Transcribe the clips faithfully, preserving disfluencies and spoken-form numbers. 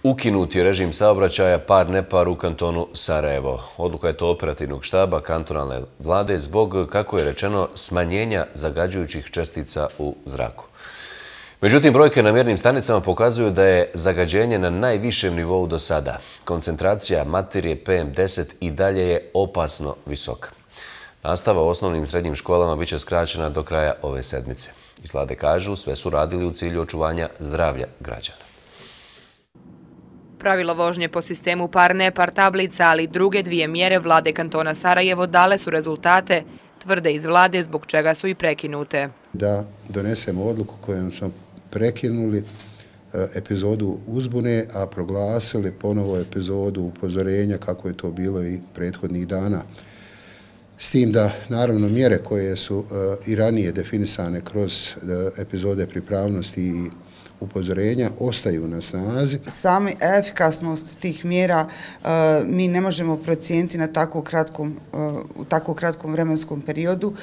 Ukinut je režim saobraćaja par nepar u kantonu Sarajevo. Odluka je to operativnog štaba kantonalne vlade zbog, kako je rečeno, smanjenja zagađujućih čestica u zraku. Međutim, brojke na mjernim stanicama pokazuju da je zagađenje na najvišem nivou do sada. Koncentracija materije P M deset i dalje je opasno visoka. Nastava u osnovnim i srednjim školama bit će skraćena do kraja ove sedmice. Iz vlade kažu, sve su radili u cilju očuvanja zdravlja građana. Pravilo vožnje po sistemu par-nepar tablica, ali i druge dvije mjere vlade kantona Sarajevo dale su rezultate, tvrde iz vlade, zbog čega su i prekinute. Da donesemo odluku kojom smo prekinuli epizodu uzbune, a proglasili ponovo epizodu upozorenja kako je to bilo i prethodnih dana. S tim da, naravno, mjere koje su i ranije definisane kroz epizode pripravnosti i upozorenja ostaju na snazi. Sami efikasnost tih mjera mi ne možemo procijeniti na tako kratkom, u tako kratkom vremenskom periodu.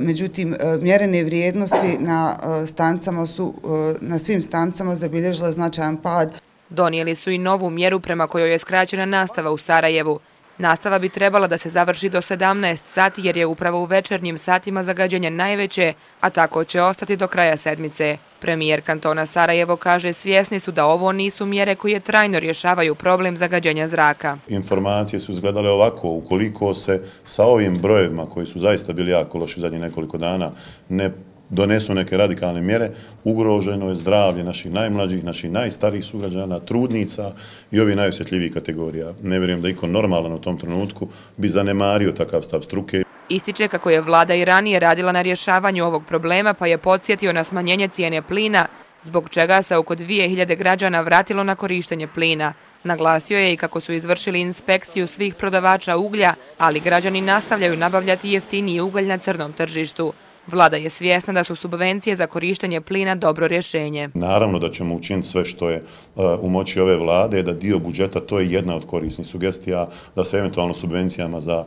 Međutim, mjerene vrijednosti na stancama su, na svim stancama zabilježile značajan pad. Donijeli su i novu mjeru prema kojoj je skraćena nastava u Sarajevu. Nastava bi trebala da se završi do sedamnaest sati jer je upravo u večernjim satima zagađenje najveće, a tako će ostati do kraja sedmice. Premijer kantona Sarajevo kaže, svjesni su da ovo nisu mjere koje trajno rješavaju problem zagađenja zraka. Informacije su izgledale ovako: ukoliko se sa ovim brojevima koji su zaista bili jako loši zadnjih nekoliko dana ne donesu neke radikalne mjere, ugroženo je zdravlje naših najmlađih, naših najstarijih sugrađana, trudnica i ovih najosjetljivijih kategorija. Ne vjerujem da iko normalan u tom trenutku bi zanemario takav stav struke. Ističe kako je vlada i ranije radila na rješavanju ovog problema, pa je podsjetio na smanjenje cijene plina, zbog čega se oko dvije hiljade građana vratilo na korištenje plina. Naglasio je i kako su izvršili inspekciju svih prodavača uglja, ali građani nastavljaju nabavljati jeftiniji ugalj na crnom tržištu. Vlada je svjesna da su subvencije za korištenje plina dobro rješenje. Naravno da ćemo učiniti sve što je u moći ove vlade, da dio budžeta, to je jedna od korisnih sugestija, da se eventualno subvencijama za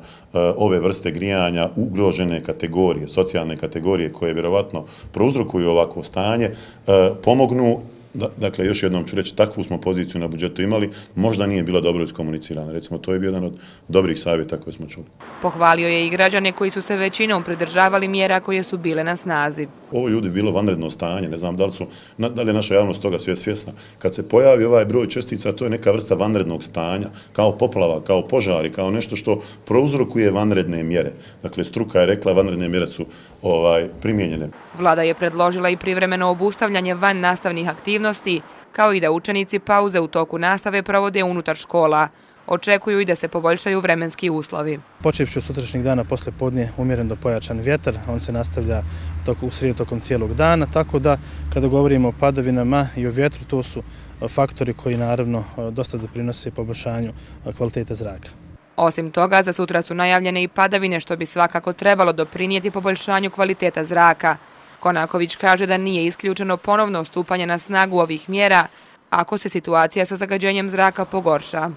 ove vrste grijanja ugrožene kategorije, socijalne kategorije koje vjerovatno prouzrokuju ovakvo stanje, pomognu. Dakle, još jednom ću reći, takvu smo poziciju na budžetu imali, možda nije bila dobro iskomunicirana. Recimo, to je bio jedan od dobrih savjeta koje smo čuli. Pohvalio je i građane koji su se većinom pridržavali mjera koje su bile na snazi. Ovo ljudi bilo vanredno stanje, ne znam da li, su, da li je naša javnost toga svjesna. Kad se pojavi ovaj broj čestica, to je neka vrsta vanrednog stanja, kao poplava, kao požari, kao nešto što prouzrokuje vanredne mjere. Dakle, struka je rekla, vanredne mjere su ovaj, primijenjene. Vlada je predložila i privremeno obustavljanje van nastavnih aktivnosti, kao i da učenici pauze u toku nastave provode unutar škola. Očekuju i da se poboljšaju vremenski uslovi. Počevši od sutrašnjeg dana posle podne umjeren do pojačan vjetar, on se nastavlja u srijedu tokom cijelog dana, tako da kada govorimo o padavinama i o vjetru, to su faktori koji naravno dosta doprinose poboljšanju kvalitete zraka. Osim toga, za sutra su najavljene i padavine, što bi svakako trebalo doprinijeti poboljšanju kvaliteta zraka. Konaković kaže da nije isključeno ponovno stupanje na snagu ovih mjera ako se situacija sa zagađenjem zraka pogorša.